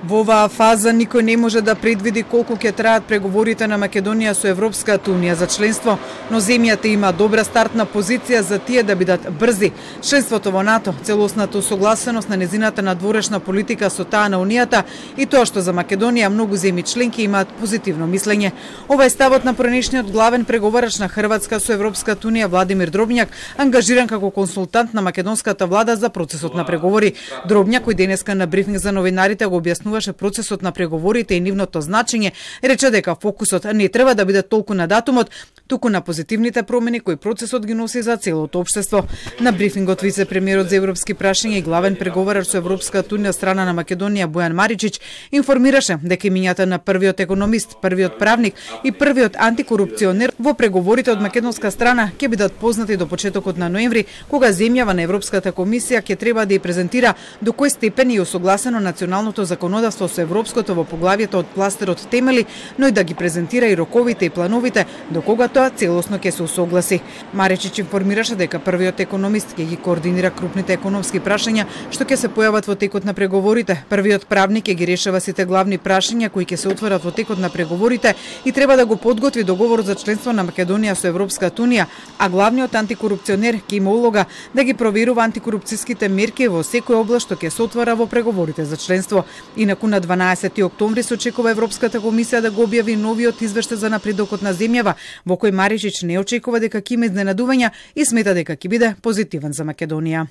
Во оваа фаза никој не може да предвиди колку ќе траат преговорите на Македонија со Европската унија за членство, но земјата има добра стартна позиција за тие да бидат брзи. Членството во НАТО, целосната усогласеност на незината надворешна политика со таа на Унијата и тоа што за Македонија многу земји членки имаат позитивно мислење. Ова е ставот на поранешниот главен преговарач на Хрватска со Европската унија Владимир Дробњак, ангажиран како консултант на македонската влада за процесот на преговори. Дробњак, кој денеска на брифинг за новинарите го објаснуваше процесот на преговорите и нивното значење, рече дека фокусот не треба да биде толку на датумот, туку на позитивните промени кои процесот ги носи за целото општество. На брифингот вице-премиерот за европски прашања и главен преговарач со Европската унија страна на Македонија Бојан Маричич информираше дека имињата на првиот економист, првиот правник и првиот антикорупционер во преговорите од македонска страна ќе бидат познати до почетокот на ноември, кога земјава на Европската комисија ќе треба да ја презентира до кој степен е усогласено националното законодавство со европското во поглавието од кластерот темели, но и да ги презентира и роковите и плановите до кога тоа целосно ќе се усогласи. Маричич информираше дека првиот економист ќе ги координира крупните економски прашања што ќе се појават во текот на преговорите. Првиот правник ќе ги решава сите главни прашања кои ќе се отворат во текот на преговорите и треба да го подготви договорот за членство на Македонија со Европската унија, а главниот антикорупционер ќе има улога да ги проверува антикорупцијските мерки во секоја област што ќе се отвора во преговорите за членство. Инаку на 12 октомври се очекува Европската комисија да го објави новиот извештај за напредокот на земјава, во кој Маричич не очекува дека ќе има изненадувања и смета дека ќе биде позитивен за Македонија.